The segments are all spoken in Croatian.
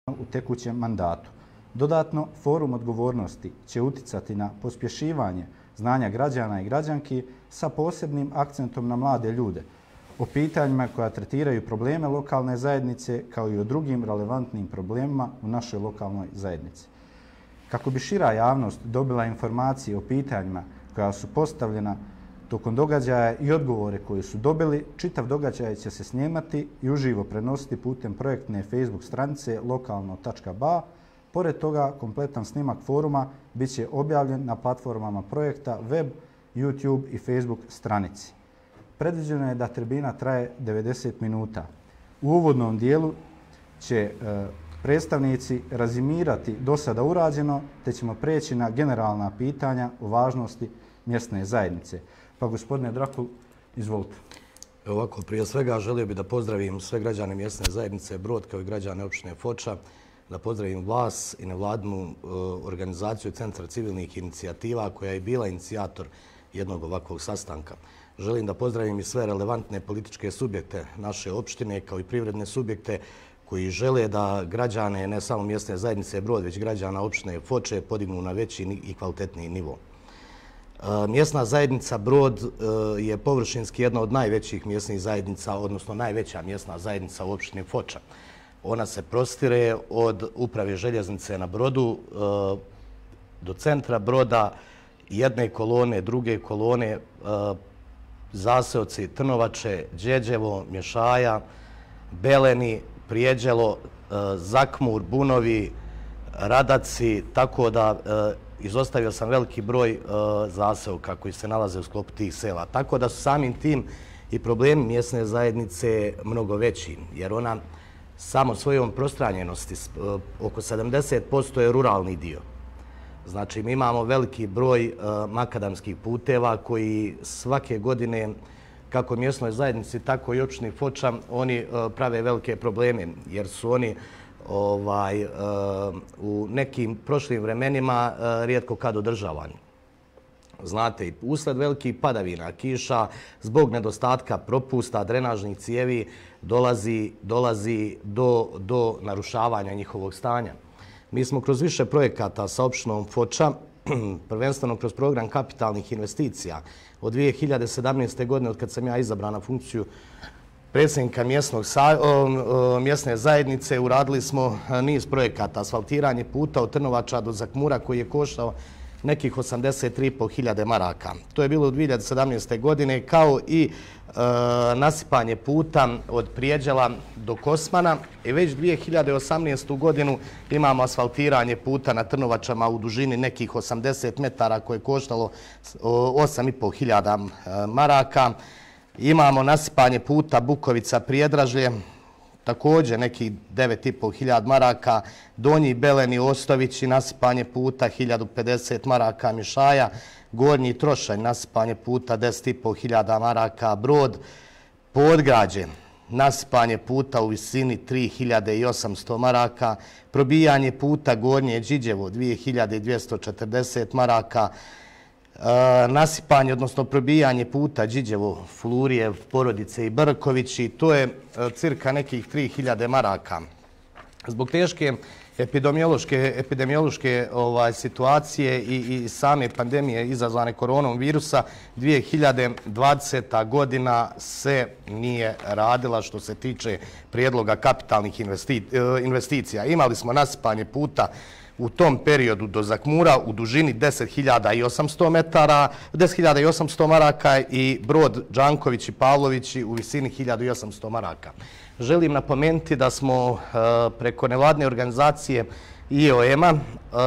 u tekućem mandatu. Dodatno, forum odgovornosti će uticati na pospješivanje znanja građana i građanki sa posebnim akcentom na mlade ljude, o pitanjima koja tretiraju probleme lokalne zajednice kao i o drugim relevantnim problemima u našoj lokalnoj zajednici. Kako bi šira javnost dobila informacije o pitanjima koja su postavljena tokom događaja i odgovore koje su dobili, čitav događaj će se snimati i uživo prenositi putem projektne Facebook stranice lokalno.ba. Pored toga, kompletan snimak foruma bit će objavljen na platformama projekta web, YouTube i Facebook stranici. Predviđeno je da tribina traje 90 minuta. U uvodnom dijelu će predstavnici rezimirati do sada urađeno, te ćemo preći na generalna pitanja o važnosti mjesne zajednice. Pa gospodine Drakul, izvolite. Ovako, prije svega želio bih da pozdravim sve građane mjesne zajednice Brod kao i građane općine Foča, da pozdravim vas i nevladinu organizaciju Centra civilnih inicijativa koja je bila inicijator jednog ovakvog sastanka. Želim da pozdravim i sve relevantne političke subjekte naše opštine kao i privredne subjekte koji žele da građane ne samo mjesne zajednice Brod, već građana opštine Foče podignu na veći i kvalitetniji nivo. Mjesna zajednica Brod je površinski jedna od najvećih mjesnih zajednica, odnosno najveća mjesna zajednica u opštini Foča. Ona se prostire od uprave željeznice na Brodu do centra Broda, jedne kolone, druge kolone, zaseoci Trnovače, Đeđevo, Mješaja, Beleni, Prijeđelo, Zakmur, Bunovi, Radaci, tako da izostavio sam veliki broj zaseoka koji se nalaze u sklopu tih sela. Tako da su samim tim i problemi mjesne zajednice mnogo veći, jer ona samo svojom prostranjenosti, oko 70% je ruralni dio. Znači, mi imamo veliki broj makadamskih puteva koji svake godine, kako mjesnoj zajednici, tako i opštini Foča, oni prave velike probleme, jer su oni u nekim prošlim vremenima rijetko kad održavani. Znate, usled velikih padavina, kiša, zbog nedostatka propusta, drenažnih cijevi, dolazi do narušavanja njihovog stanja. Mi smo kroz više projekata sa opštinom Foča, prvenstveno kroz program kapitalnih investicija, od 2017. godine, od kad sam ja izabran na funkciju predsjednika mjesne zajednice, uradili smo niz projekata. Asfaltiranje puta od Trnovača do Zakmura koji je koštao nekih 83.500 maraka. To je bilo u 2017. godine, kao i nasipanje puta od Prijeđela do Kosmana. I već 2018. godinu imamo asfaltiranje puta na Trnovačama u dužini nekih 80 metara koje je koštalo 8.500 maraka. Imamo nasipanje puta Bukovica-Prijedražlje, također nekih 9.500 maraka, Donji Beleni, Ostovići, nasipanje puta 1050 maraka, Mišaja, Gornji Trošanj, nasipanje puta 10.500 maraka, Brod, Podgrađe, nasipanje puta u visini 3.800 maraka, probijanje puta Gornje Điđevo 2.240 maraka, nasipanje, odnosno probijanje puta Điđevo, Flurijev, Porodice i Brkovići, to je cirka nekih 3.000 maraka. Zbog teške epidemiološke situacije i same pandemije izazvane koronom virusa, 2020. godina se nije radila što se tiče prijedloga kapitalnih investicija. Imali smo nasipanje puta u tom periodu do Zakmura u dužini 10.800 maraka i Brod Đanković i Pavlovići u visini 1.800 maraka. Želim napomenuti da smo preko nevladne organizacije IOM-a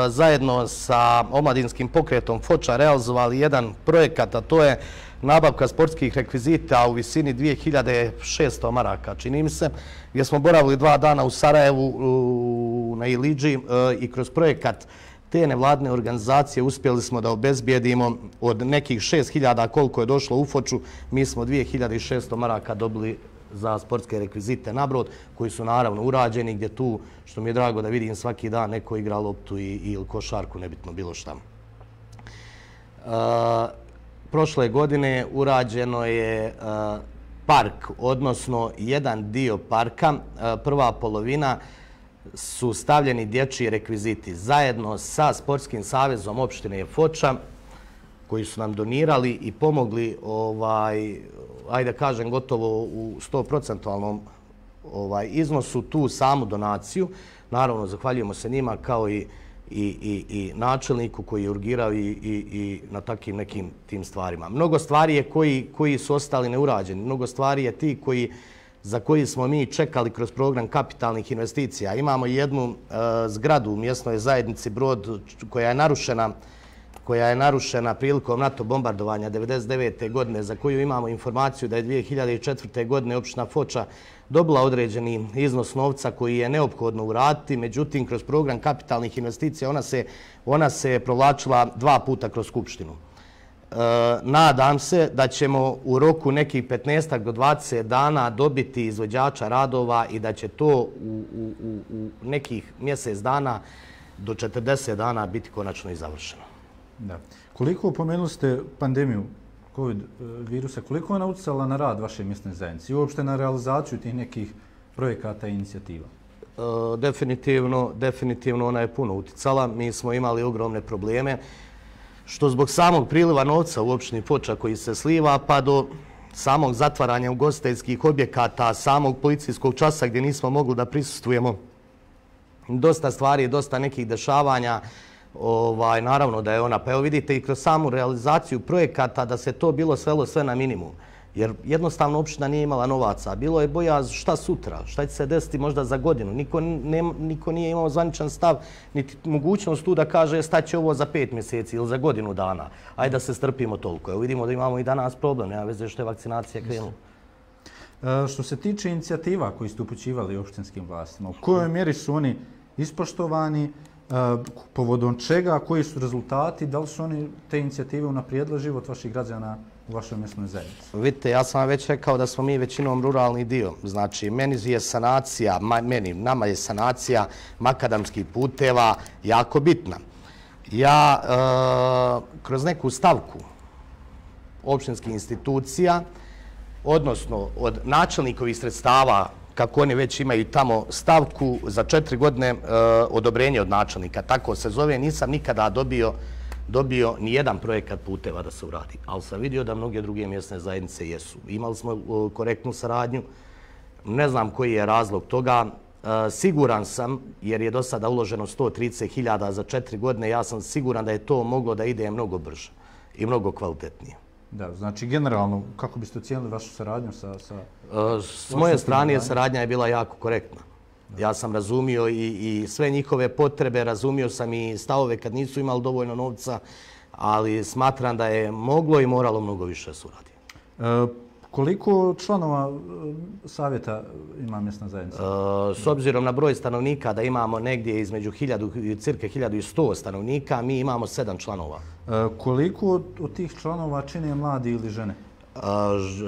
zajedno sa omladinskim pokretom Foča realizovali jedan projekat, a to je nabavka sportskih rekvizita u visini 2.600 maraka, čini mi se, gdje smo boravili 2 dana u Sarajevu na Ilidži i kroz projekat te nevladne organizacije uspjeli smo da obezbijedimo od nekih 6.000 koliko je došlo u Foču, mi smo 2.600 maraka dobili za sportske rekvizite na Brod, koji su naravno urađeni, gdje tu, što mi je drago da vidim svaki dan, neko igra loptu ili košarku, nebitno bilo šta. Prošle godine urađeno je park, odnosno jedan dio parka, prva polovina su stavljeni dječji rekviziti zajedno sa Sportskim savezom opštine Foča, koji su nam donirali i pomogli, ajde kažem, gotovo u 100% iznosu tu samu donaciju. Naravno, zahvaljujemo se njima kao i načelniku koji je urgirao i na takvim nekim tim stvarima. Mnogo stvari je koji su ostali neurađeni. Mnogo stvari je ti za koji smo mi čekali kroz program kapitalnih investicija. Imamo jednu zgradu u mjesnoj zajednici Brod koja je narušena prilikom NATO bombardovanja 1999. godine, za koju imamo informaciju da je 2004. godine opština Foča dobila određeni iznos novca koji je neophodno uraditi. Međutim, kroz program kapitalnih investicija ona se provlačila 2 puta kroz Skupštinu. Nadam se da ćemo u roku nekih 15 do 20 dana dobiti izvođača radova i da će to u nekih mjesec dana do 40 dana biti konačno i završeno. Da. Koliko, pomenuli ste pandemiju COVID virusa, koliko je ona utjecala na rad vaše mjesne zajednice i uopšte na realizaciju tih nekih projekata i inicijativa? Definitivno ona je puno utjecala. Mi smo imali ogromne probleme, što zbog samog priliva novca u opštini Foča koji se sliva, pa do samog zatvaranja ugostiteljskih objekata, samog policijskog časa gdje nismo mogli da prisustvujemo. Dosta stvari, dosta nekih dešavanja. Naravno da je ona, pa evo vidite i kroz samu realizaciju projekata da se to bilo svelo sve na minimum. Jer jednostavno opština nije imala novaca. Bilo je bojaz šta sutra, šta će se desiti možda za godinu. Niko nije imao zvaničan stav, niti mogućnost tu da kaže staće ovo za 5 mjeseci ili za godinu dana. Ajde da se strpimo toliko. Evo vidimo da imamo i danas problem, nema veze što je vakcinacija krenula. Što se tiče inicijativa koji ste upućivali opštinskim vlastima, u kojoj mjeri su oni ispoštovani, povodom čega, koji su rezultati, da li su oni te inicijative unaprijedile život vaših građana u vašoj mjesnoj zajednici? Vidite, ja sam vam već rekao da smo mi većinom ruralni dio. Znači, nama je sanacija makadamskih puteva jako bitna. Ja kroz neku stavku opštinskih institucija, odnosno od načelnikovih sredstava, kako oni već imaju tamo stavku za 4 godine odobrenje od načelnika, tako se zove, nisam nikada dobio ni jedan projekat puteva da se uradi. Ali sam vidio da mnoge druge mjesne zajednice jesu. Imali smo korektnu saradnju, ne znam koji je razlog toga. Siguran sam, jer je do sada uloženo 130.000 za 4 godine, ja sam siguran da je to moglo da ide mnogo brže i mnogo kvalitetnije. Da, znači generalno, kako biste ocijenili vašu saradnju sa... S moje strane saradnja je bila jako korektna. Ja sam razumio i sve njihove potrebe, razumio sam i stavove kad nisu imali dovoljno novca, ali smatram da je moglo i moralo mnogo više suradi. Koliko članova savjeta ima mjesna zajednica? S obzirom na broj stanovnika da imamo negdje između cirka 1100 stanovnika, mi imamo 7 članova. Koliko od tih članova čine mladi ili žene?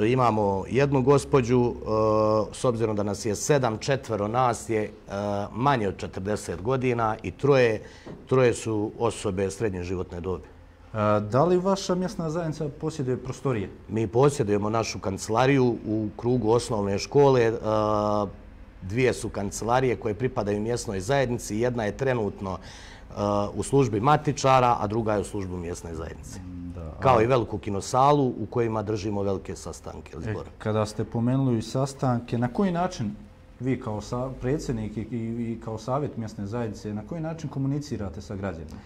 Imamo jednu gospođu, s obzirom da nas je 7, 4 nas je manje od 40 godina i troje su osobe srednje životne dobi. Da li vaša mjesna zajednica posjeduje prostorije? Mi posjedujemo našu kancelariju u krugu osnovne škole. 2 su kancelarije koje pripadaju mjesnoj zajednici. Jedna je trenutno u službi matičara, a druga je u službi mjesne zajednice. Kao i veliku kinosalu u kojima držimo velike sastanke. Kada ste pomenuli sastanke, na koji način vi kao predsjednik i kao savjet mjesne zajednice, na koji način komunicirate sa građanima?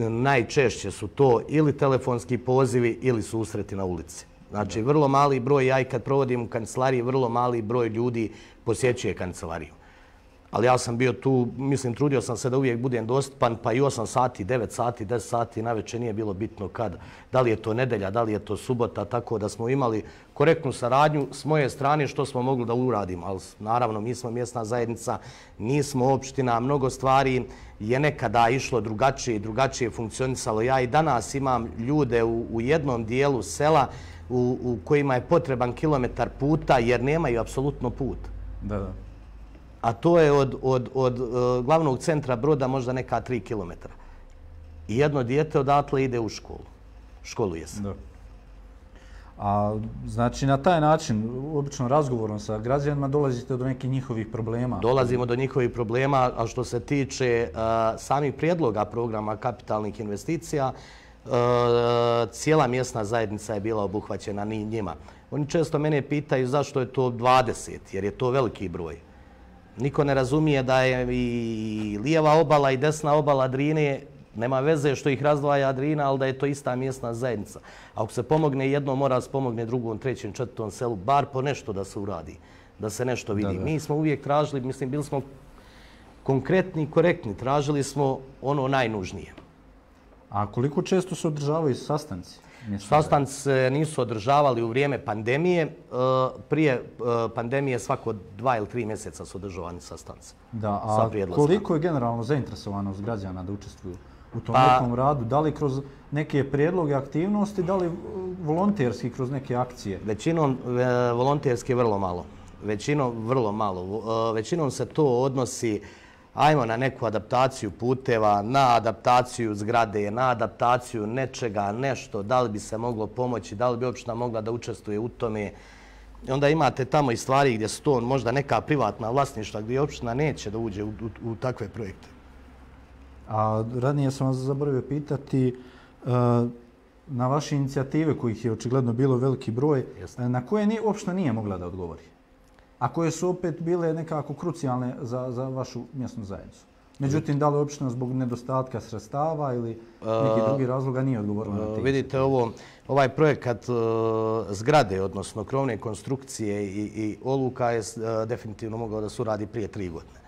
Najčešće su to ili telefonski pozivi ili susreti na ulici. Znači, vrlo mali broj, ja i kad provodim u kancelariji, vrlo mali broj ljudi posjećuje kancelariju. Ali ja sam bio tu, mislim, trudio sam se da uvijek budem dostupan, pa i 8 sati, 9 sati, 10 sati navečer nije bilo bitno kad. Da li je to nedelja, da li je to subota, tako da smo imali korektnu saradnju s moje strane što smo mogli da uradimo. Ali naravno, mi smo mjesna zajednica, nismo opština, mnogo stvari je nekada išlo drugačije i drugačije funkcionisalo. Ja i danas imam ljude u jednom dijelu sela u kojima je potreban kilometar puta jer nemaju apsolutno put. Da. A to je od glavnog centra Broda možda neka 3 kilometra. I jedno dijete odatle ide u školu. Školuje se. A znači na taj način, obično razgovorom sa građanima, dolazite do nekih njihovih problema? Dolazimo do njihovih problema, a što se tiče samih prijedloga programa kapitalnih investicija, cijela mjesna zajednica je bila obuhvaćena njima. Oni često mene pitaju zašto je to 20, jer je to veliki broj. Niko ne razumije da je i lijeva obala i desna obala Drine, nema veze što ih razdvaja Drina, ali da je to ista mjesna zajednica. Ako se pomogne jednom, mora se pomogne drugom, trećem, četvrtom selu, bar po nešto da se uradi, da se nešto vidi. Mi smo uvijek tražili, mislim, bili smo konkretni i korektni, tražili smo ono najnužnije. A koliko često se održavaju sastanci? Sastanci se nisu održavali u vrijeme pandemije. Prije pandemije svako 2 ili 3 mjeseca su održavani sastanci. Da, a koliko je generalno zainteresovanost građana da učestvuju u tom nekom radu? Da li kroz neke prijedloge aktivnosti, da li volonterski kroz neke akcije? Većinom volonterski vrlo malo. Većinom se to odnosi ajmo na neku adaptaciju puteva, na adaptaciju zgrade, na adaptaciju nečega, nešto, da li bi se moglo pomoći, da li bi opština mogla da učestvuje u tome. Onda imate tamo i stvari gdje su to možda neka privatna vlasništva gdje opština neće da uđe u takve projekte. A ranije sam vas zaboravio pitati na vaše inicijative, kojih je očigledno bilo veliki broj, na koje opština nije mogla da odgovori? A koje su opet bile nekako krucijalne za vašu mjesnu zajednicu. Međutim, da li opština zbog nedostatka sredstava ili nekih drugih razloga nije odgovorila na te? Vidite, ovaj projekat zgrade, odnosno krovne konstrukcije i oluka je definitivno mogao da se uradi prije 3 godine.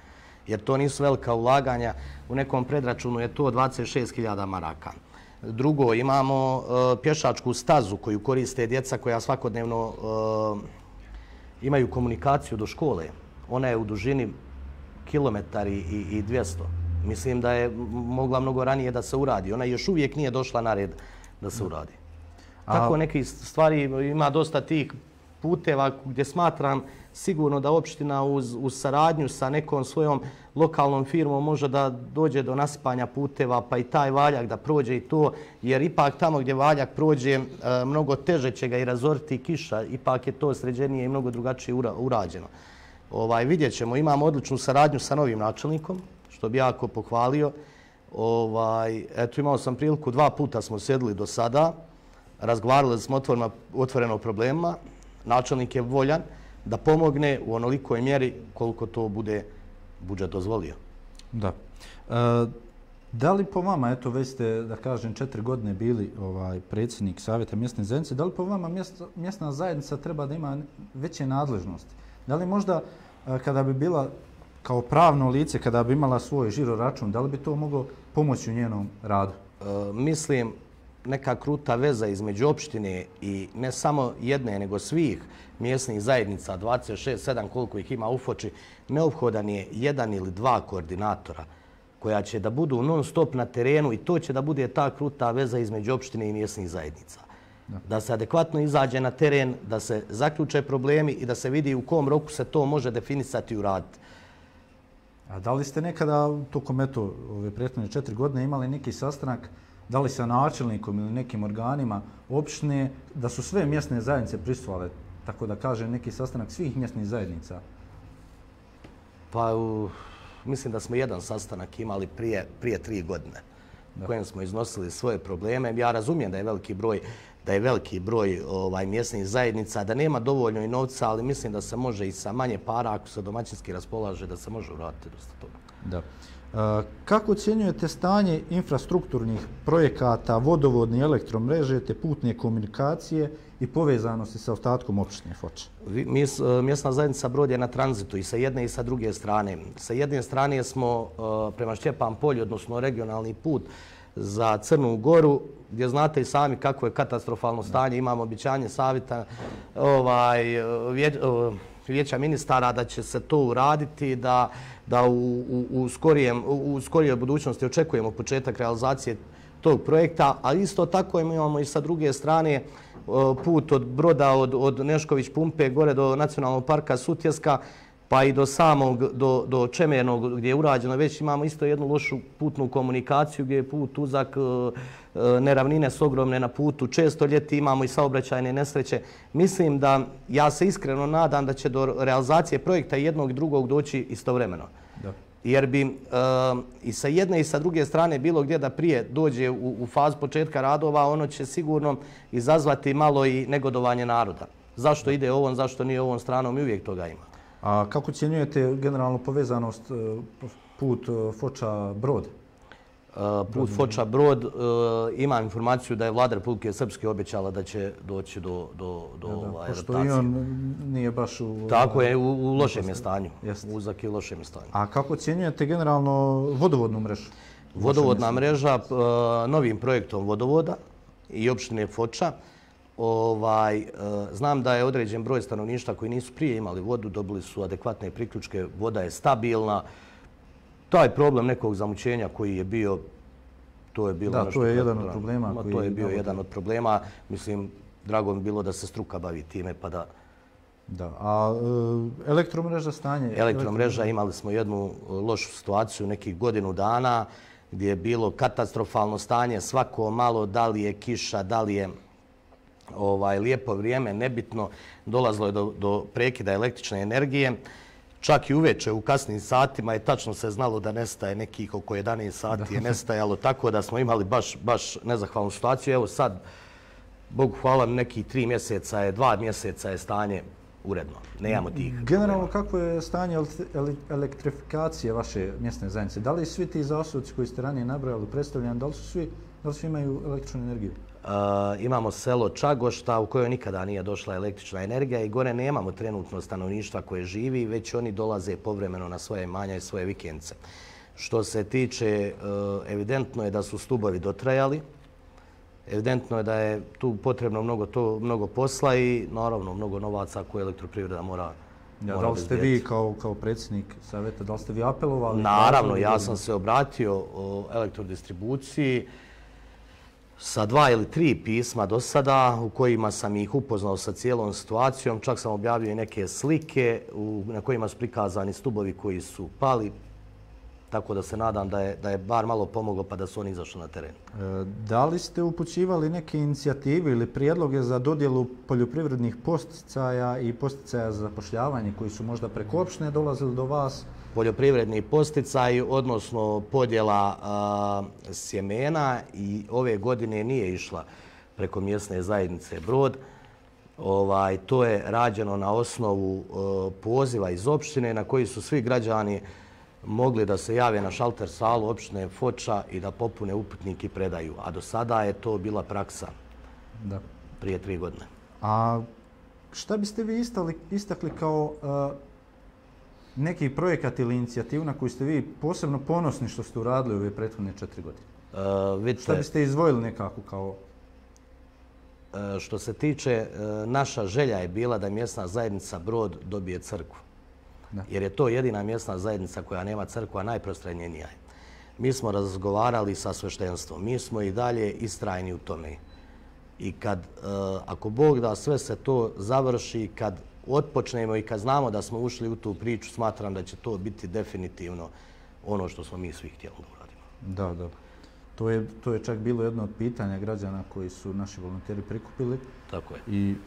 Jer to nisu velika ulaganja. U nekom predračunu je to 26.000 maraka. Drugo, imamo pješačku stazu koju koriste djeca koja svakodnevno imaju komunikaciju do škole. Ona je u dužini 1,2 km. Mislim da je mogla mnogo ranije da se uradi. Ona još uvijek nije došla na red da se uradi. Tako neke stvari, ima dosta tih puteva gdje smatram sigurno da opština uz saradnju sa nekom svojom lokalnom firmom može da dođe do nasipanja puteva, pa i taj valjak da prođe i to, jer ipak tamo gdje valjak prođe mnogo teže će ga i razoriti kiša, ipak je to sređenije i mnogo drugačije urađeno. Vidjet ćemo, imamo odličnu saradnju sa novim načelnikom, što bi jako pohvalio. Eto, imao sam priliku, 2 puta smo sjedili do sada, razgovarali smo otvoreno o problemima. Načelnik je voljan da pomogne u onolikoj mjeri koliko to bude budžet dozvolio. Da. Da li po vama, eto već ste, da kažem, 4 godine bili predsjednik Savjeta mjesne zajednice, da li po vama mjesna zajednica treba da ima veće nadležnosti? Da li možda kada bi bila kao pravno lice, kada bi imala svoj žiro račun, da li bi to moglo pomoći u njenom radu? Mislim, neka kruta veza između opštine i ne samo jedne, nego svih mjesnih zajednica, 26-7 koliko ih ima u Foči, neophodan je 1 ili 2 koordinatora koja će da budu non stop na terenu i to će da bude ta kruta veza između opštine i mjesnih zajednica. Da se adekvatno izađe na teren, da se zaključe problemi i da se vidi u kom roku se to može definisati i uraditi. A da li ste nekada tokom ove prethodne 4 godine imali neki sastanak, da li sa načelnikom ili nekim organima opštine, da su sve mjesne zajednice prisustvovale, tako da kažem, neki sastanak svih mjesnih zajednica? Pa, mislim da smo jedan sastanak imali prije 3 godine u kojem smo iznosili svoje probleme. Ja razumijem da je veliki broj mjesnih zajednica, da nema dovoljno i novca, ali mislim da se može i sa manje para, ako se domaćinski raspolaže, da se može uraditi dosta toga. Da. Kako ocjenjujete stanje infrastrukturnih projekata, vodovodne i elektromreže, te putne komunikacije i povezanosti sa ostatkom opštine Foča? Mjesna zajednica Brod je na tranzitu i sa jedne i sa druge strane. Sa jedne strane smo prema Šćepan polju, odnosno regionalni put za Crnu Goru, gdje znate i sami kako je katastrofalno stanje. Imamo obećanje savjeta vijeća ministara da će se to uraditi, da u skorijoj budućnosti očekujemo početak realizacije tog projekta, a isto tako imamo i sa druge strane put od Broda, od Nešković pumpe gore do Nacionalnog parka Sutjeska, pa i do samog, do Čemernog gdje je urađeno, već imamo isto jednu lošu putnu komunikaciju gdje je put uzak, neravnine su ogromne na putu, često ljeti imamo i saobraćajne nesreće. Mislim da, ja se iskreno nadam da će do realizacije projekta jednog i drugog doći istovremeno. Da. Jer bi i sa jedne i sa druge strane bilo gdje da prije dođe u fazu početka radova, ono će sigurno izazvati malo i negodovanje naroda. Zašto ide ovom, zašto nije ovom stranom i uvijek toga ima. A kako ocjenjujete generalnu povezanost put Foča-Brod? Put Foča-Brod, imam informaciju da je Vlada Republike Srpske obećala da će doći do rotacije. Pošto i on nije baš u... Tako je, u lošem je stanju. Uzak je u lošem je stanju. A kako ocjenjujete generalno vodovodnu mrežu? Vodovodna mreža novim projektom vodovoda i opštine Foča. Znam da je određen broj stanovništva koji nisu prije imali vodu, dobili su adekvatne priključke, voda je stabilna. Taj problem nekog zamućenja koji je bio, to je bilo... Da, to je jedan od problema. To je bio jedan od problema. Mislim, drago mi bilo da se struka bavi time, pa da... Da, a elektromreža stanje? Elektromreža, imali smo jednu lošu situaciju nekih godinu dana gdje je bilo katastrofalno stanje, svako malo, da li je kiša, da li je lijepo vrijeme, nebitno, dolazilo je do prekida električne energije. Čak i uveče u kasnim satima je tačno se znalo da nestaje nekih oko 11 sati je nestajalo, tako da smo imali baš nezahvalnu situaciju. Evo sad, Bogu hvala, nekih 3 mjeseca je, 2 mjeseca je stanje uredno. Nemamo tih. Generalno, kako je stanje elektrifikacije vaše mjesne zajednice? Da li svi ti zaosoci koji ste ranije nabrojali predstavljeni, da li svi imaju električnu energiju? Imamo selo Čagošta u kojoj nikada nije došla električna energija i gore nemamo trenutno stanovništva koje živi, već oni dolaze povremeno na svoje imanja i svoje vikendce. Što se tiče, evidentno je da su stubovi dotrajali, evidentno je da je tu potrebno mnogo posla i naravno mnogo novaca koje elektroprivreda mora da li ste vi kao predsjednik savjeta, da li ste vi apelovali? Naravno, ja sam se obratio o elektrodistribuciji sa 2 ili 3 pisma do sada u kojima sam ih upoznao sa cijelom situacijom. Čak sam objavio i neke slike na kojima su prikazani stubovi koji su pali. Tako da se nadam da je bar malo pomoglo pa da su oni izašli na teren. Da li ste upućivali neke inicijative ili prijedloge za dodjelu poljoprivrednih posticaja i posticaja za zapošljavanje koji su možda preko opštine dolazili do vas? Poljoprivredni posticaj, odnosno podjela sjemena i ove godine nije išla preko mjesne zajednice Brod. To je rađeno na osnovu poziva iz opštine na koji su svi građani mogli da se jave na šalter salu opštine Foča i da popune upitnik i predaju. A do sada je to bila praksa prije 3 godine. A šta biste vi istakli kao neki projekat ili inicijativu na koju ste vi posebno ponosni što ste uradili ove prethodne 4 godine? Šta biste izdvojili nekako kao... Što se tiče, naša želja je bila da mjesna zajednica Brod dobije crkvu. Jer je to jedina mjesna zajednica koja nema crkvu, a najprostranjenija je. Mi smo razgovarali sa sveštenstvom. Mi smo i dalje istrajni u tome. I ako Bog da sve se to završi, kad otpočnemo i kad znamo da smo ušli u tu priču, smatram da će to biti definitivno ono što smo mi svi htjeli da uradimo. Da. To je čak bilo jedno od pitanja građana koji su naši volonteri prikupili. Tako je.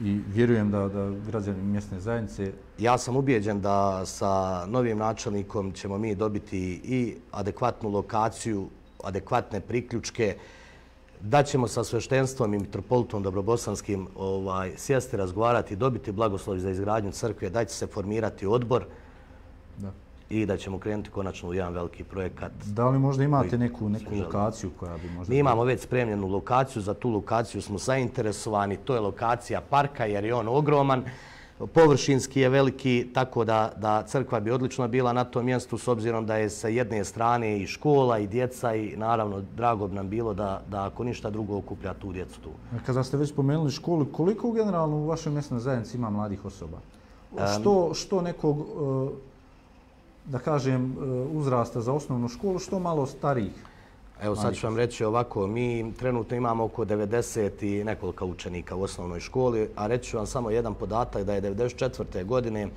I vjerujem da građani mjesne zajednice... Ja sam ubijeđen da sa novim načelnikom ćemo mi dobiti i adekvatnu lokaciju, adekvatne priključke, da ćemo sa sveštenstvom i mitropolitom Dobrobosanskim sjesti, razgovarati, dobiti blagoslov za izgradnju crkve, da će se formirati odbor i da ćemo krenuti konačno u jedan veliki projekat. Da li možda imate neku lokaciju koja bi možda... Mi imamo već spremljenu lokaciju, za tu lokaciju smo zainteresovani, to je lokacija parka jer je on ogroman, površinski je veliki, tako da crkva bi odlično bila na tom mjestu s obzirom da je sa jedne strane i škola i djeca i naravno drago bi nam bilo da ako ništa drugo okuplja tu djecu tu. Kada ste već spomenuli školu, koliko generalno u vašoj mjesnoj zajednici ima mladih osoba? Što nekog, da kažem, uzrasta za osnovnu školu, što malo starijih? Evo sad ću vam reći ovako, mi trenutno imamo oko 90 i nekoliko učenika u osnovnoj školi, a reći ću vam samo jedan podatak da je 1994. godine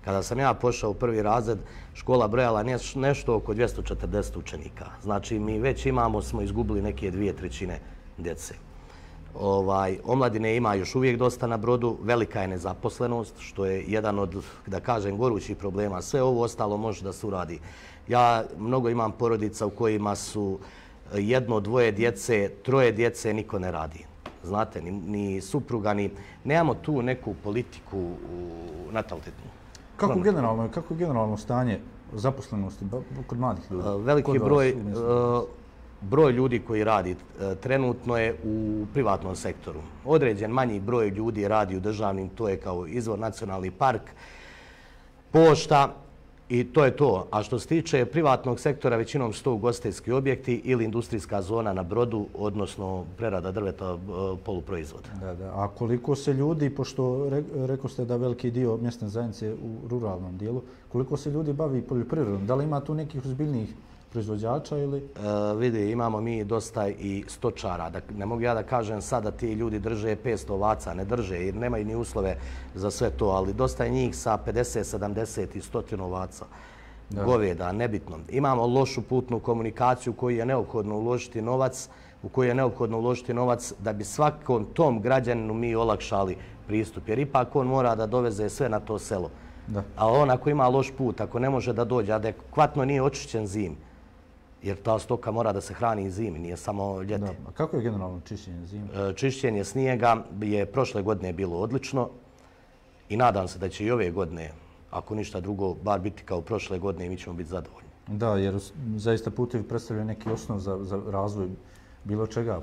Kada sam ja pošao u prvi razred, škola brojala nešto oko 240 učenika. Znači, mi već smo izgubili neke 2/3 djece. Omladine ima još uvijek dosta na Brodu, velika je nezaposlenost, što je jedan od, da kažem, gorućih problema. Sve ovo ostalo može da se uradi. Ja mnogo imam porodica u kojima su 1, 2 djece, 3 djece, niko ne radi. Znate, ni supruga, nemamo tu neku politiku natalitetnu. Kako je generalno stanje zaposlenosti kod mladih ljudi? Veliki broj ljudi koji radi trenutno je u privatnom sektoru. Određen manji broj ljudi radi u državnim, to je kao Izvor, nacionalni park, pošta i to je to. A što se tiče privatnog sektora, većinom su to ugostiteljski objekti ili industrijska zona na Brodu, odnosno prerada drveta, poluproizvoda. A koliko se ljudi, pošto rekao ste da veliki dio mjesne zajednice u ruralnom dijelu, koliko se ljudi bavi poljoprivredom? Da li ima tu nekih ozbiljnijih proizvođača ili? Vidi, imamo mi dosta i stočara. Ne mogu ja da kažem sad da ti ljudi drže 500 ovaca, ne drže jer nemaju ni uslove za sve to, ali dosta je njih sa 50, 70 i 100 ovaca. Goveda, nebitno. Imamo lošu putnu komunikaciju u koju je neophodno uložiti novac da bi svakom tom građaninu mi olakšali pristup. Jer ipak on mora da doveze sve na to selo. A on ako ima loš put, ako ne može da dođe, adekvatno nije očišćen zimi. Jer ta stoka mora da se hrani i zimi, nije samo ljeti. A kako je generalno čišćenje zime? Čišćenje snijega je prošle godine bilo odlično i nadam se da će i ove godine, ako ništa drugo, bar biti kao prošle godine i mi ćemo biti zadovoljni. Da, jer zaista putevi predstavljaju neki osnov za razvoj bilo čega,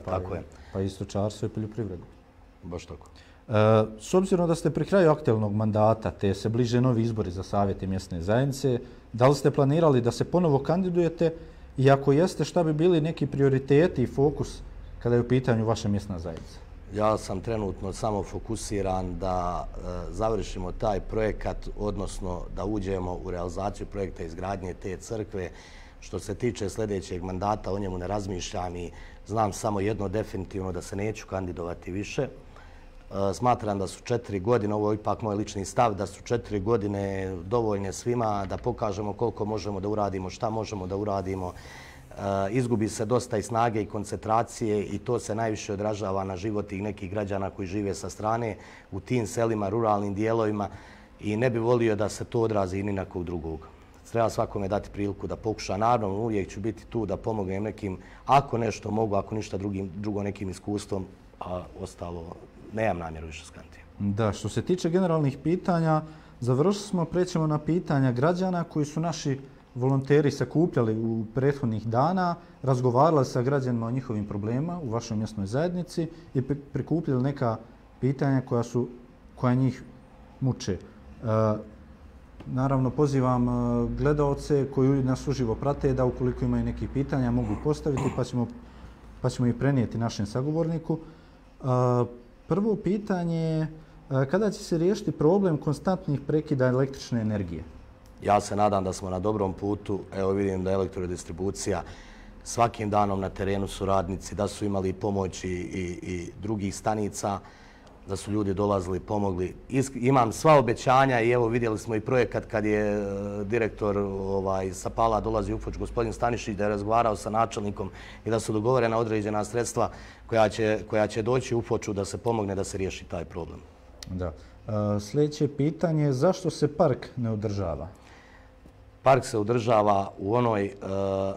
pa i stočarstvo i poljoprivredu. Baš tako. S obzirom da ste pri kraju aktualnog mandata, te se bliže novi izbori za savjete mjesne zajednice, da li ste planirali da se ponovo kandidujete i ako jeste, šta bi bili neki prioriteti i fokus kada je u pitanju vaša mjesna zajednica? Ja sam trenutno samo fokusiran da završimo taj projekat, odnosno da uđemo u realizaciju projekta izgradnje te crkve. Što se tiče sljedećeg mandata, o njemu ne razmišljam i znam samo jedno definitivno, da se neću kandidovati više. Smatram da su 4 godine, ovo je ipak moj lični stav, da su 4 godine dovoljne svima da pokažemo koliko možemo da uradimo, šta možemo da uradimo. Izgubi se dosta i snage i koncentracije i to se najviše odražava na život tih nekih građana koji žive sa strane u tim selima, ruralnim dijelovima i ne bi volio da se to odrazi i ni na kog drugog. Treba svakome dati priliku da pokuša. Naravno, uvijek ću biti tu da pomognem nekim, ako nešto mogu, ako ništa drugo nekim iskustvom, a ostalo nemam namjeru više skantiti. Da, što se tiče generalnih pitanja, završili smo, prećemo na pitanja građana koji su naši volonteri sakupljali u prethodnih dana, razgovarali sa građanima o njihovim problemima u vašoj mjesnoj zajednici i prikupljali neka pitanja koja njih muče. Naravno, pozivam gledaoce koji nas uživo prate da ukoliko imaju nekih pitanja mogu postaviti pa ćemo ih prenijeti našem sagovorniku. Prvo pitanje je kada će se riješiti problem konstantnih prekida električne energije? Ja se nadam da smo na dobrom putu. Evo vidim da je elektrodistribucija svakim danom na terenu su radnici, da su imali pomoći i drugih stanica, da su ljudi dolazili, pomogli. Imam sva obećanja i evo vidjeli smo i projekat kad je direktor sa Pala dolazi u Foč, gospodin Stanišić, da je razgovarao sa načelnikom i da su dogovorena određena sredstva koja će doći u Foču da se pomogne da se riješi taj problem. Da. Sljedeće pitanje je zašto se park ne održava? Park se održava u onoj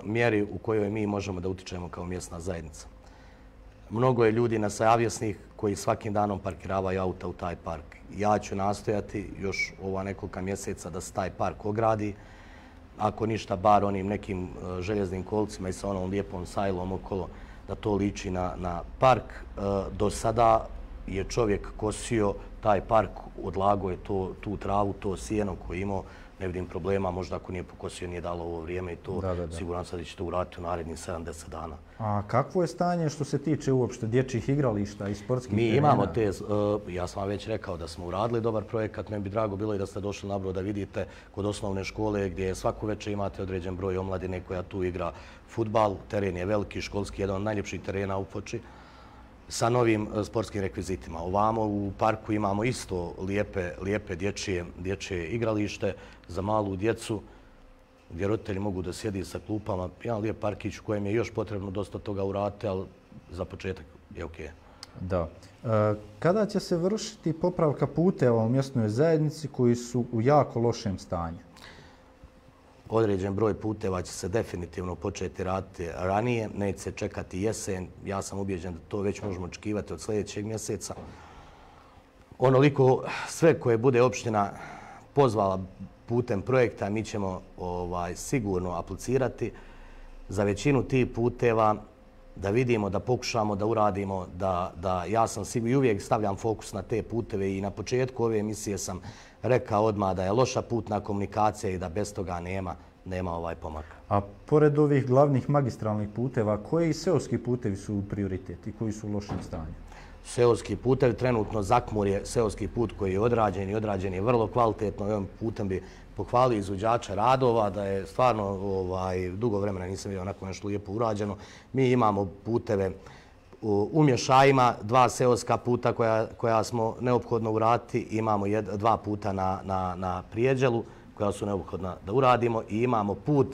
mjeri u kojoj mi možemo da utičemo kao mjesna zajednica. Mnogo je ljudi nesavjesnih koji svakim danom parkiravaju auta u taj park. Ja ću nastojati još ova nekoliko mjeseca da se taj park ogradi. Ako ništa, bar onim nekim željeznim kolcima i sa onom lijepom sajlom okolo, da to liči na park. Do sada je čovjek kosio taj park, odlagao je tu travu, to sjeno koje je imao. Ne vidim problema, možda ako nije pokosio, nije dalo ovo vrijeme i to siguran sam da će to uraditi u narednih 70 dana. A kakvo je stanje što se tiče uopšte dječjih igrališta i sportskih terena? Mi imamo te, ja sam vam već rekao da smo uradili dobar projekat, meni bi drago bilo i da ste došli na Brod da vidite kod osnovne škole gdje svaku večer imate određen broj omladine koja tu igra fudbal. Teren je veliki, školski, jedan od najljepših terena u Foči. sa novim sportskim rekvizitima. Ovamo u parku imamo isto lijepe dječje igralište za malu djecu, gdje roditelji mogu da sjedi sa klupama. Jedan lijep parkić u kojem je još potrebno dosta toga uraditi, ali za početak je okej. Da. Kada će se vršiti popravka puteva u mjesnoj zajednici koji su u jako lošem stanju? Određen broj puteva će se definitivno početi raditi ranije, neće se čekati jesen. Ja sam ubijeđen da to već možemo očekivati od sljedećeg mjeseca. Onoliko sve koje bude opština pozvala putem projekta, mi ćemo sigurno aplicirati za većinu tih puteva, da vidimo, da pokušamo da uradimo, da ja sam sigurno i uvijek stavljam fokus na te puteve i na početku ove emisije sam rekao odmah da je loša putna komunikacija i da bez toga nema pomaka. A pored ovih glavnih magistralnih puteva, koji seoski putevi su prioritet i koji su u lošem stanju? Seoski putevi, trenutno Zakmur je seoski put koji je odrađen je vrlo kvalitetno. Ovim putem bi pohvalio izvođača radova, da je stvarno dugo vremena nisam vidio onako nešto lijepo urađeno. Mi imamo puteve u Mješajima, 2 seoska puta koja smo neophodno uraditi. Imamo 2 puta na Prijeđelu koja su neophodna da uradimo i imamo put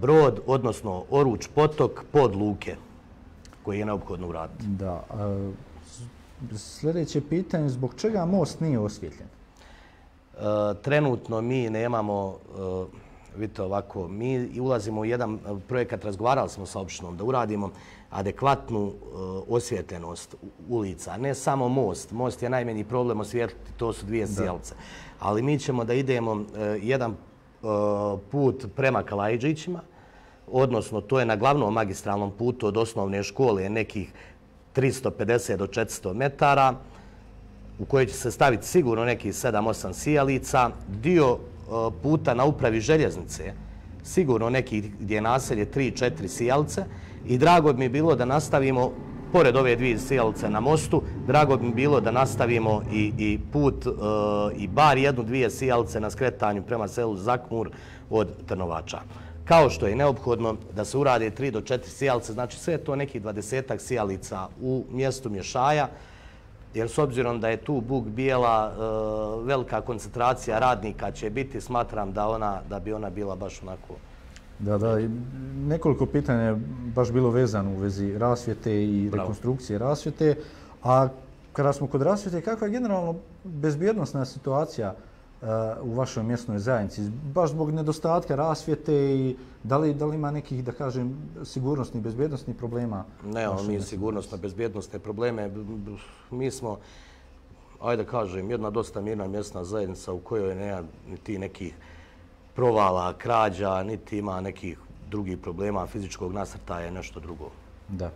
Brod, odnosno Oruč potok pod Luke koji je neophodno uraditi. Da. Sljedeće pitanje, zbog čega most nije osvjetljen? Trenutno mi nemamo, vidite ovako, mi ulazimo u jedan projekat, razgovarali smo sa opštinom da uradimo adekvatnu osvjetljenost ulica. Ne samo most. Most je najmanji problem osvijetliti, to su 2 sjelce. Ali mi ćemo da idemo jedan put prema Kalajđićima, odnosno to je na glavnom magistralnom putu od osnovne škole nekih 350 do 400 metara, u kojoj će se staviti sigurno nekih 7-8 sijalica, dio puta na upravi željeznice, sigurno nekih gdje je naselje 3-4 sijalice i drago bi mi bilo da nastavimo, pored ove 2 sijalice na mostu, drago bi mi bilo da nastavimo i put i bar 1-2 sijalice na skretanju prema selu Zakmur od Trnovača. Kao što je neophodno da se urade 3 do 4 sijalice, znači sve je to nekih 20 sijalica u mjestu Mješaja, jer s obzirom da je tu Buk Bijela velika koncentracija radnika će biti, smatram da bi ona bila baš onako. Da, nekoliko pitanja je baš bilo vezano u vezi rasvjete i rekonstrukcije rasvjete. A kada smo kod rasvjete, kakva je generalno bezbjednosna situacija u vašoj mjesnoj zajednici? Baš zbog nedostatka rasvjete i da li ima nekih, da kažem, sigurnosnih, bezbjednosnih problema? Nemamo mi sigurnosno bezbjednostne probleme. Mi smo, ajde kažem, jedna dosta mirna mjesna zajednica u kojoj nema niti nekih provala, krađa, niti ima nekih drugih problema fizičkog nasrtaja je nešto drugo. Da.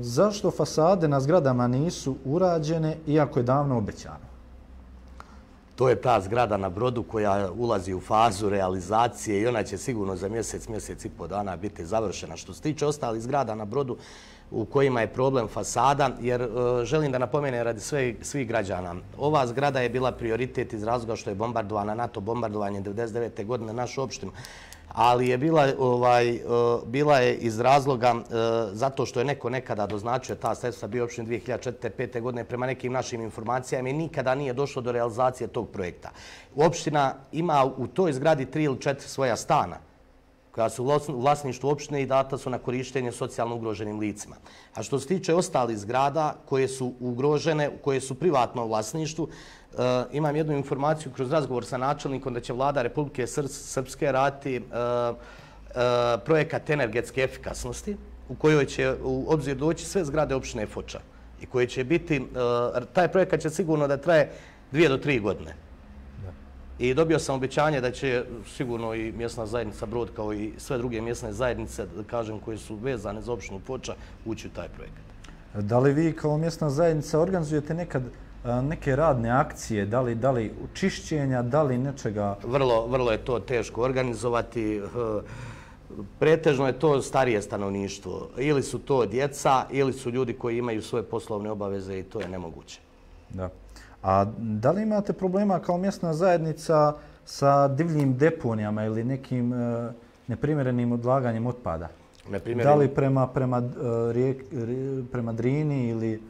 Zašto fasade na zgradama nisu urađene iako je davno obećano? To je ta zgrada na Brodu koja ulazi u fazu realizacije i ona će sigurno za mjesec i pol dana biti završena. Što se tiče ostalih zgrada na Brodu u kojima je problem fasada, jer želim da napomenem radi svih građana. Ova zgrada je bila prioritet iz razloga što je bombardovana NATO bombardovanje 1999. godine našu opštinu, ali je bila je iz razloga zato što je neko nekada doznačio ta sredstva bio opštin 2004-2005. godine prema nekim našim informacijama i nikada nije došlo do realizacije tog projekta. Opština ima u toj zgradi 3 ili 4 svoja stana koja su u vlasništvu opštine i data su na korištenje socijalno ugroženim licima. A što se tiče ostalih zgrada koje su ugrožene, koje su privatno u vlasništvu, imam jednu informaciju kroz razgovor sa načelnikom da će vlada Republike Srpske raditi projekat energetske efikasnosti u kojoj će u obzir doći sve zgrade opštine Foča i koje će biti, taj projekat će sigurno da traje 2 do 3 godine. I dobio sam obećanje da će sigurno i mjesna zajednica Brod kao i sve druge mjesne zajednice, da kažem, koje su vezane za opštinu Foča, ući u taj projekat. Da li vi kao mjesna zajednica organizujete nekad neke radne akcije, da li čišćenja, da li nečega? Vrlo je to teško organizovati. Pretežno je to starije stanovništvo. Ili su to djeca, ili su ljudi koji imaju svoje poslovne obaveze i to je nemoguće. Da. A da li imate problema kao mjesna zajednica sa divljim deponijama ili nekim neprimjerenim odlaganjem otpada? Da li prema Drini ili...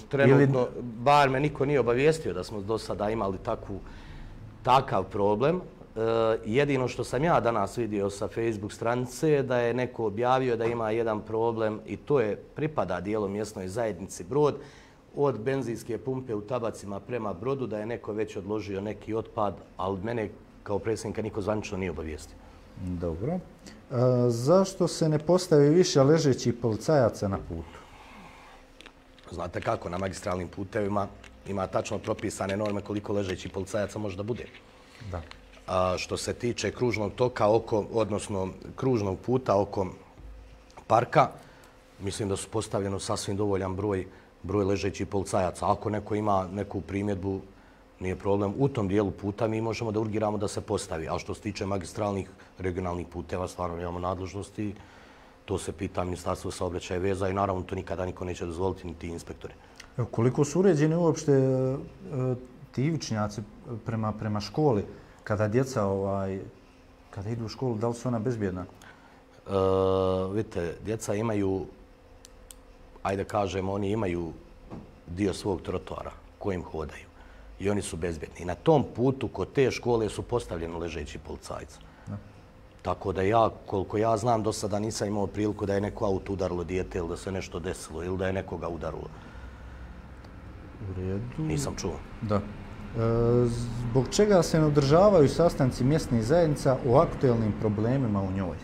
Trenutno, bar me niko nije obavijestio da smo do sada imali takav problem. Jedino što sam ja danas vidio sa Facebook stranice je da je neko objavio da ima jedan problem i to pripada dijelom mjesnoj zajednici Brod, od benzinske pumpe u Tabacima prema Brodu, da je neko već odložio neki otpad, ali mene kao predsjednika niko zvanično nije obavijestio. Dobro. Zašto se ne postavi više ležećih policajaca na putu? Znate kako, na magistralnim putevima ima tačno propisane norme koliko ležećih policajaca može da bude. Da. Što se tiče kružnog toka, odnosno kružnog puta oko parka, mislim da su postavljeno sasvim dovoljan broj ležećih policajaca. Ako neko ima neku primjedbu, nije problem. U tom dijelu puta mi možemo da urgiramo da se postavi. A što se tiče magistralnih regionalnih puteva, stvarno imamo nadležnosti. To se pita Ministarstvo saobraćaja i veza i naravno to nikada niko neće dozvoliti, ni ti inspektori. Koliko su uređeni uopšte ti ivičnjaci prema školi, kada djeca kada idu u školu, da li su ona bezbjedna? Vidite, djeca imaju, ajde kažemo, oni imaju dio svog trotoara kojim hodaju i oni su bezbjedni. I na tom putu kod te škole su postavljeni ležeći policajci. Tako da ja, koliko ja znam, do sada nisam imao priliku da je neko auto udarilo dijete ili da se nešto desilo ili da je nekoga udarilo. U redu. Nisam čuo. Da. Zbog čega se ne održavaju sastanci mjesnih zajednica o aktuelnim problemima u njoj?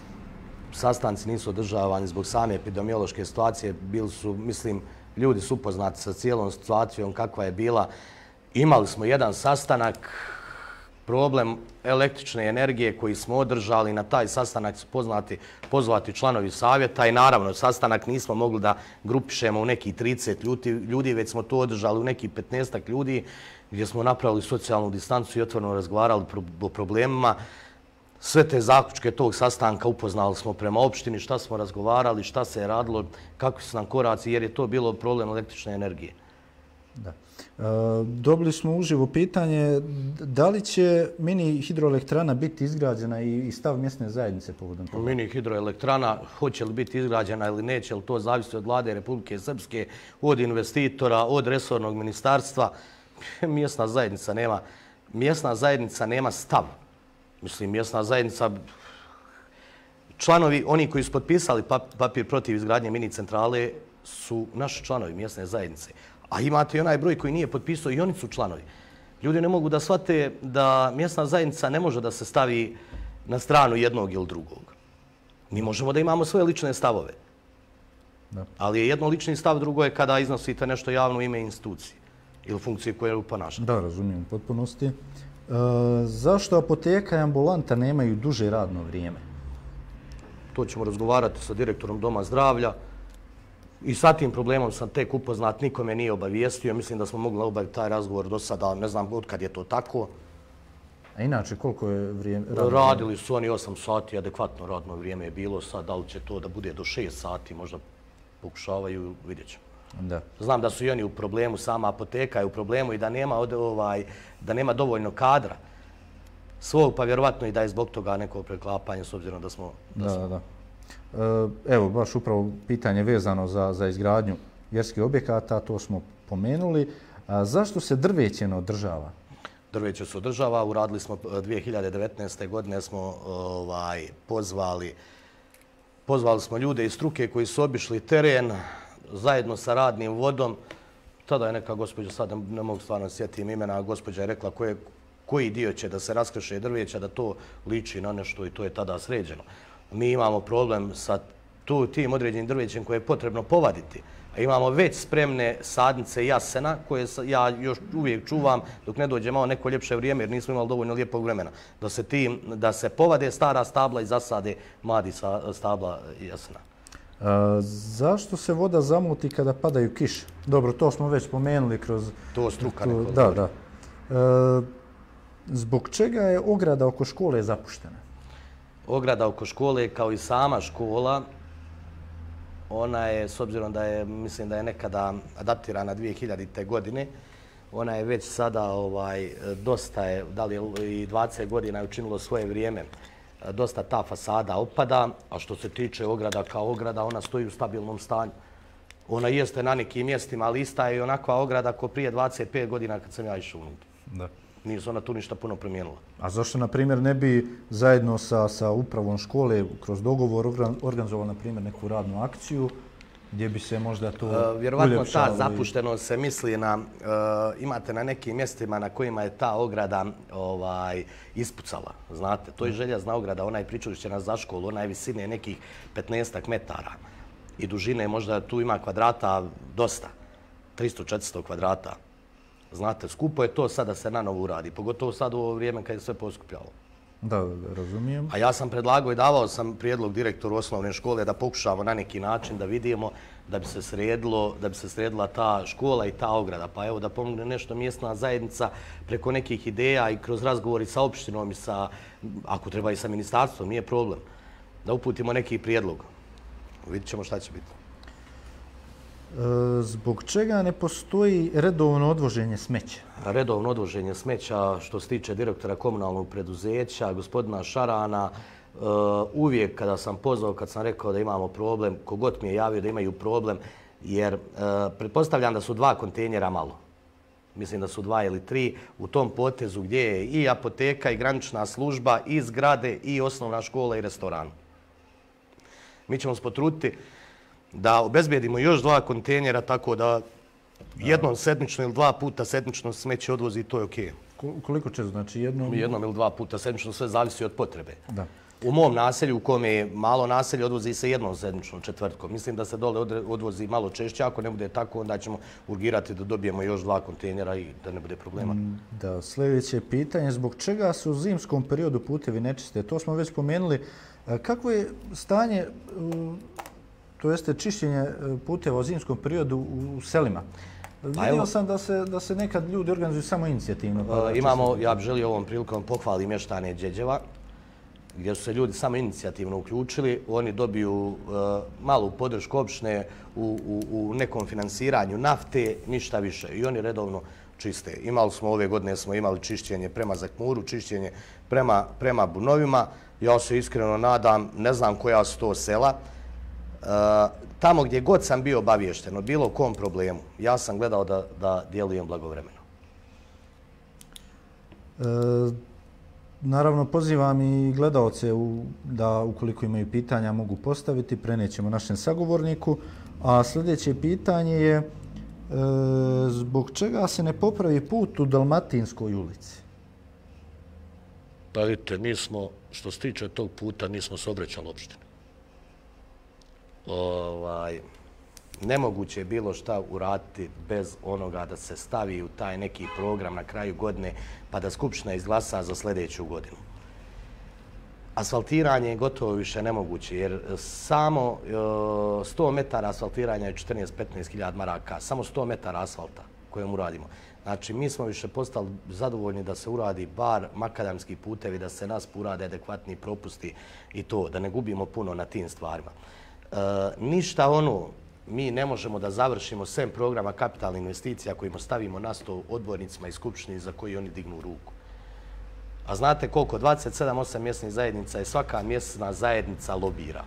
Sastanci nisu održavani zbog same epidemiološke situacije. Bili su, mislim, ljudi su upoznati sa cijelom situacijom kakva je bila. Imali smo jedan sastanak, problem električne energije koji smo održali. Na taj sastanak su pozvati članovi savjeta i naravno sastanak nismo mogli da grupišemo u nekih 30 ljudi, već smo to održali u nekih 15 ljudi gdje smo napravili socijalnu distancu i otvoreno razgovarali o problemima. Sve te zaključke tog sastanka upoznali smo prema opštini, šta smo razgovarali, šta se je radilo, kakvi su nam koraci, jer je to bilo problem električne energije. Da. Dobili smo uživo pitanje da li će mini hidroelektrana biti izgrađena i stav mjesne zajednice povodom toga? Mini hidroelektrana, hoće li biti izgrađena ili neće, ali to zavisi od vlade Republike Srpske, od investitora, od resornog ministarstva. Mjesna zajednica nema stav. Mislim, mjesna zajednica, članovi, oni koji su potpisali papir protiv izgradnje mini centrale su naši članovi mjesne zajednice. A imate i onaj broj koji nije potpisao i oni su članovi. Ljudi ne mogu da shvate da mjesna zajednica ne može da se stavi na stranu jednog ili drugog. Mi možemo da imamo svoje lične stavove. Da. Ali je jedno lični stav, drugo je kada iznosite nešto javno u ime institucije ili funkcije koje ponašate. Da, razumijem u potpunosti. Zašto apoteka i ambulanta nemaju duže radno vrijeme? To ćemo razgovarati sa direktorom Doma zdravlja. I sa tim problemom sam tek upoznat, niko me nije obavijestio. Mislim da smo mogli obaviti taj razgovor do sada, ne znam od kad je to tako. A inače, koliko je vrijeme? Radili su oni 8 sati, adekvatno radno vrijeme je bilo. Sad, da li će to da bude do 6 sati, možda pokušavaju, vidjet ćemo. Da. Znam da su i oni u problemu, sama apoteka je u problemu i da nema dovoljno kadra svog, pa vjerovatno i da je zbog toga neko preklapanje, s obzirom da smo... Da. Evo, baš upravo pitanje vezano za izgradnju vjerskih objekata, to smo pomenuli. Zašto se drveće ne održava? Drveće se održava. Uradili smo 2019. godine, smo pozvali smo ljude iz struke koji su obišli teren zajedno sa radnim vodom. Tada je neka gospođa, sad ne mogu stvarno sjetim imena, gospođa je rekla koji dio će da se raskrše drveća, da to liči na nešto i to je tada sređeno. Mi imamo problem sa tim određenim drvećem koje je potrebno povaditi. A imamo već spremne sadnice jasena koje ja još uvijek čuvam dok ne dođe malo neko ljepše vrijeme jer nismo imali dovoljno lijepog vremena. Da se povade stara stabla i zasade mladi stabla jasena. Zašto se voda zamuti kada padaju kiše? Dobro, to smo već spomenuli kroz... To struka neko da. Zbog čega je ograda oko škole zapuštena? Ograda oko škole, kao i sama škola, ona je, s obzirom da je, mislim da je nekada adaptirana 2000. godine, ona je već sada dosta je, da li i 20 godina je učinilo svoje vrijeme. dosta ta fasada opada, a što se tiče ograda kao ograda, ona stoji u stabilnom stanju. Ona jeste na nekim mjestima, ali ista je i onakva ograda ko prije 25 godina kad sam ja išao unutra. Da. Nije se ona tu ništa puno promijenila. A zašto, na primjer, ne bi zajedno sa upravom škole kroz dogovor organizovali, na primjer, neku radnu akciju gdje bi se možda to vjerovatno ta zapuštenost se misli na, imate na nekim mjestima na kojima je ta ograda ispucala. Znate, to je željezna ograda, ona je pričušćena za školu, ona je visine nekih 15 metara i dužine možda tu ima kvadrata dosta, 300-400 kvadrata. Znate, skupo je to sad da se na novo uradi, pogotovo sad u ovo vrijeme kad je sve poskupljalo. Da, razumijem. A ja sam predlagao i davao sam prijedlog direktoru osnovne škole da pokušamo na neki način da vidimo da bi se sredila ta škola i ta ograda. Pa evo da pomogne nešto mjesna zajednica preko nekih ideja i kroz razgovori sa opštinom i sa, ako treba i sa ministarstvom, nije problem, da uputimo neki prijedlog. Vidjet ćemo šta će biti. Zbog čega ne postoji redovno odvoženje smeća? Redovno odvoženje smeća, što se tiče direktora komunalnog preduzeća, gospodina Šarana, uvijek kada sam pozvao, kad sam rekao da imamo problem, kogod mi je javio da imaju problem, jer pretpostavljam da su 2 kontejnera malo. Mislim da su 2 ili 3 u tom potezu gdje je i apoteka i granična služba i zgrade i osnovna škola i restoran. Mi ćemo se potruditi da obezbijedimo još 2 kontejnera tako da jednom sedmično ili 2 puta sedmično smeće odvozi, to je okej. Koliko često? Znači jednom ili 2 puta sedmično, sve zavisi od potrebe. Da. U mom naselju, u kome je malo naselje, odvozi se jednom sedmičnom četvrtkom. Mislim da se dole odvozi malo češće. Ako ne bude tako, onda ćemo urgirati da dobijemo još 2 kontejnera i da ne bude problema. Da, sljedeće pitanje. Zbog čega se u zimskom periodu putevi nečiste? To smo već spomenuli. Kako je stanje, to jeste čišćenje puteva u zimskom periodu u selima? Vidio sam da se nekad ljudi organizuju samo inicijativno. Ja bih želio ovom prilikom pohvaliti mještane Đeđeva, gdje su se ljudi samo inicijativno uključili. Oni dobiju malu podršku opštine u nekom finansiranju nafte, ništa više. I oni redovno čiste. Ove godine smo imali čišćenje prema Zakmuru, čišćenje prema Bunovima. Ja se iskreno nadam, ne znam koja su to sela. Tamo gdje god sam bio obaviješten o bilo kom problemu, ja sam gledao da djelujem blagovremeno. Naravno, pozivam i gledalce da ukoliko imaju pitanja mogu postaviti, prenećemo našem sagovorniku. A sljedeće pitanje je zbog čega se ne popravi put u Dalmatinskoj ulici? Pa vidite, nismo, što se tiče tog puta, nismo se obraćali opštini. Nemoguće je bilo šta uraditi bez onoga da se stavi u taj neki program na kraju godine pa da Skupština izglasa za sljedeću godinu. Asfaltiranje je gotovo više nemoguće jer samo 100 metara asfaltiranja je 14-15 hiljada maraka, samo 100 metara asfalta kojem uradimo. Znači, mi smo više postali zadovoljni da se uradi bar makadamski putevi, da se nas urade adekvatni propusti i to, da ne gubimo puno na tim stvarima. Ništa mi ne možemo da završimo sem programa kapitalnih investicija kojima stavimo na sto odbornicima i skupštini za koji oni dignu ruku. A znate koliko? 27-8 mjesnih zajednica i svaka mjesna zajednica lobira.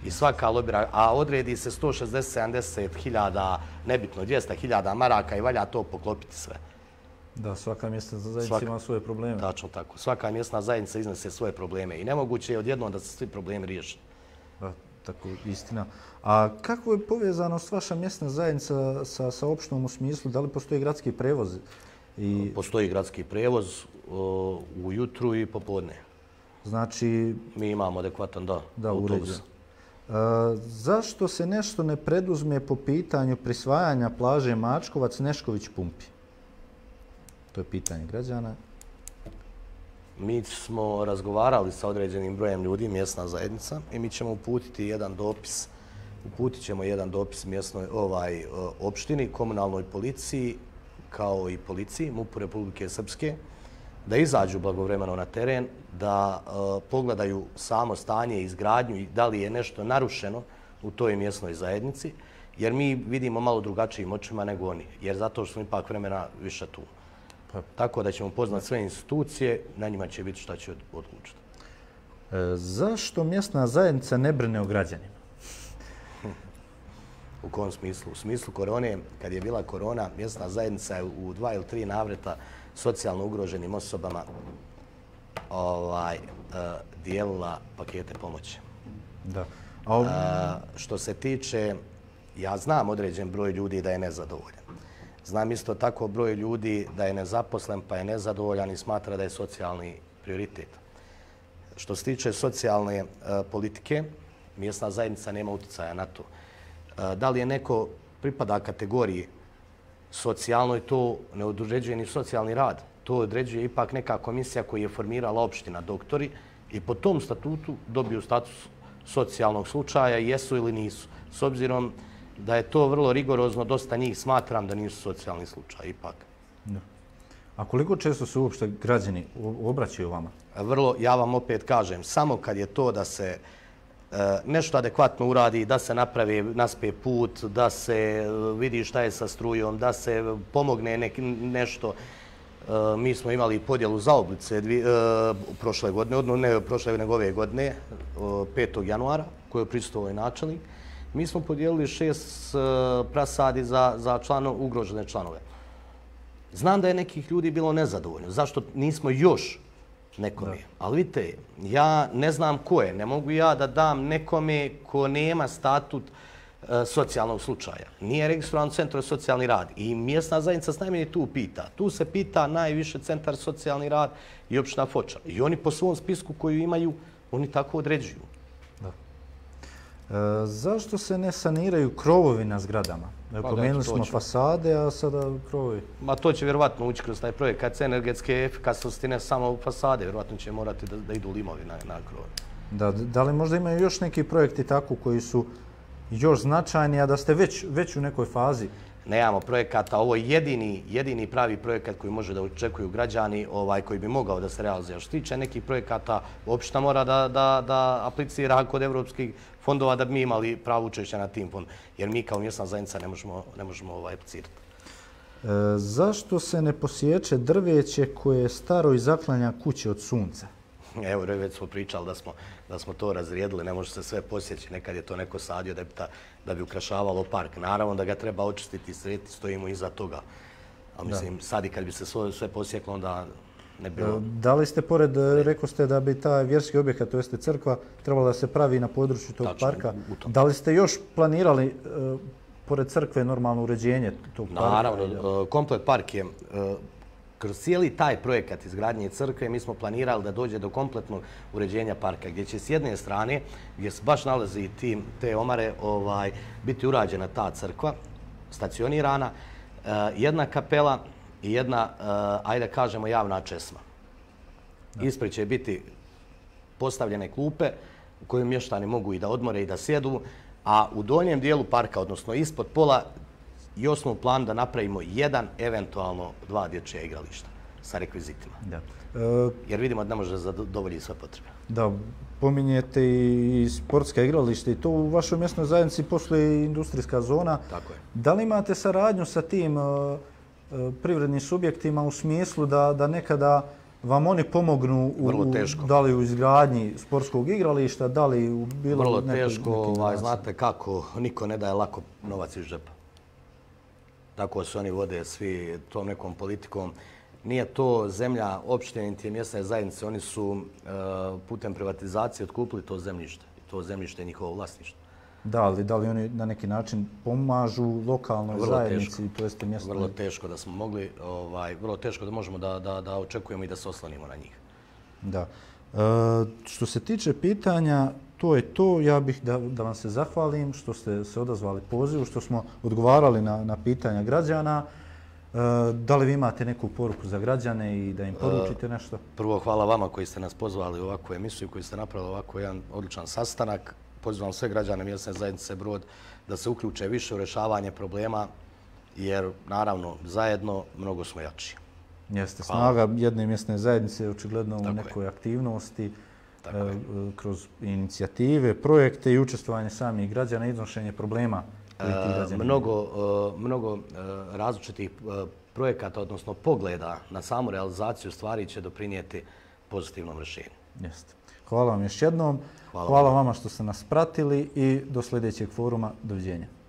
I svaka lobira, a odredi se 160-70 hiljada, nebitno 200 hiljada maraka i valja to poklopiti sve. Da, svaka mjesna zajednica ima svoje probleme. Tačno tako. Svaka mjesna zajednica iznese svoje probleme i nemoguće je odjednom da se svi problemi riješe. Da, tako, istina. A kako je povezanost vaša mjesna zajednica sa opštinom u smislu? Da li postoji gradski prevoz? Postoji gradski prevoz ujutru i popodne. Znači... Mi imamo adekvatan, autobus. Zašto se nešto ne preduzme po pitanju prisvajanja plaže Mačkovac-Nešković-Pumpi? To je pitanje građana. Mi smo razgovarali sa određenim brojem ljudi, mjesna zajednica, i mi ćemo uputiti jedan dopis. Uputit ćemo jedan dopis mjesnoj opštini, komunalnoj policiji, kao i policiji MUP-u Republike Srpske, da izađu blagovremeno na teren, da pogledaju samo stanje i izgradnju i da li je nešto narušeno u toj mjesnoj zajednici, jer mi vidimo malo drugačijim očima nego oni, jer zato što smo ipak vremena više tu. Tako da ćemo poznati sve institucije, na njima će biti šta će odlučiti. Zašto mjesna zajednica ne brine o građanima? U kom smislu? U smislu korone, kad je bila korona, mjesna zajednica je u 2 ili 3 navrata socijalno ugroženim osobama dijelila pakete pomoći. Da. Što se tiče, ja znam određen broj ljudi da je nezadovoljan. Znam isto tako broj ljudi da je nezaposlen pa je nezadovoljan i smatra da je socijalni prioritet. Što se tiče socijalne politike, mjesna zajednica nema utjecaja na to. Da li je neko pripada kategoriji socijalnoj, to ne određuje ni socijalni rad. To određuje ipak neka komisija koju je formirala opština doktori i po tom statutu dobiju status socijalnog slučaja, jesu ili nisu. S obzirom da je to vrlo rigorozno, dosta njih smatram da nisu socijalni slučaj ipak. Da. A koliko često se uopšte građani obraćaju vama? Vrlo, ja vam opet kažem, samo kad je to da se nešto adekvatno uradi, da se napravi naspe put, da se vidi šta je sa strujom, da se pomogne nešto. Mi smo imali podjelu zaoblice prošle godine, ne prošle nego ove godine, 5. januara, koji je prisustvovao i načelnik. Mi smo podijelili 6 prasadi za ugrožene članove. Znam da je nekih ljudi bilo nezadovoljno. Zašto nismo još nekome? Ali vidite, ja ne znam ko je. Ne mogu ja da dam nekome ko nema statut socijalnog slučaja. Nije registrovan u Centru za socijalni rad. I mjesna zajednica s najmanje tu pita. Tu se pita najviše Centar za socijalni rad i opština Foča. I oni po svom spisku koju imaju, oni tako određuju. Zašto se ne saniraju krovovi na zgradama? Pomenuli smo fasade, a sada krovovi. Ma to će vjerovatno ući kroz taj projekt. Kad se energetske efikasnosti ne samo u fasade, vjerovatno će morati da idu limovi na krovovi. Da li možda imaju još neki projekti tako koji su još značajni, a da ste već u nekoj fazi? Nemamo projekata. Ovo je jedini pravi projekat koji može da očekuju građani, koji bi mogao da se realizuje. Što tiče nekih projekata, opština mora da aplicira kod evropskih fondova da bi mi imali pravo učešća na tim fondom. Jer mi kao mjesna zajednica ne možemo aplicirati. Zašto se ne posječe drveće koje je staro i zaklanja kuće od sunca? Evo, već smo pričali da smo to razrijedili, ne može se sve posjeći. Nekad je to neko sadio da bi ukrašavalo park. Naravno da ga treba očistiti i srediti, stojimo iza toga. A mislim, sad i kad bi se sve posjeklo, onda ne bilo... Da li ste pored, rekao ste da bi taj vjerski objekat, to jeste crkva, trebalo da se pravi na području tog parka. Da li ste još planirali pored crkve normalno uređenje tog parka? Naravno, komplet park je... Kroz cijeli taj projekat izgradnje crkve mi smo planirali da dođe do kompletnog uređenja parka, gdje će s jedne strane, gdje se baš nalazi te omare, biti urađena ta crkva, stacionirana, jedna kapela i jedna, ajde kažemo, javna česma. Ispred će biti postavljene klupe u kojoj mještani mogu i da odmore i da sjedu, a u donjem dijelu parka, odnosno ispod pola, još smo u planu da napravimo 1, eventualno 2 dječja igrališta sa rekvizitima. Jer vidimo da ne može zadovoljiti sve potrebe. Da, pominjete i sportska igrališta i to u vašoj mjesnoj zajednici poslije industrijska zona. Tako je. Da li imate saradnju sa tim privrednim subjektima u smislu da nekada vam oni pomognu da li u izgradnji sportskog igrališta, da li u bilo... Vrlo teško, znate kako, niko ne daje lako novac iz džepa. Tako se oni vode svi tom nekom politikom. Nije to zemlja opštine niti mjesne zajednice. Oni su putem privatizacije otkupili to zemljište. I to zemljište je njihovo vlasništvo. Da li oni na neki način pomažu lokalnoj zajednici? Vrlo teško da smo mogli, vrlo teško da možemo da očekujemo i da se oslonimo na njih. Da. Što se tiče pitanja, to je to. Ja bih da vam se zahvalim što ste se odazvali pozivu, što smo odgovarali na pitanja građana. Da li vi imate neku poruku za građane i da im poručite nešto? Prvo, hvala vama koji ste nas pozvali u ovakvu emisiju, koji ste napravili ovako jedan odličan sastanak. Pozivam sve građane mjesne zajednice Brod da se uključe više u rješavanje problema, jer naravno zajedno mnogo smo jači. Jeste, snaga jedne mjesne zajednice je očigledno u nekoj aktivnosti, kroz inicijative, projekte i učestvovanje samih građana i iznošenje problema. Mnogo različitih projekata, odnosno pogleda na samu realizaciju stvari će doprinijeti pozitivnom rješenju. Jeste. Hvala vam još jednom. Hvala vama što ste nas pratili i do sljedećeg foruma. Doviđenja.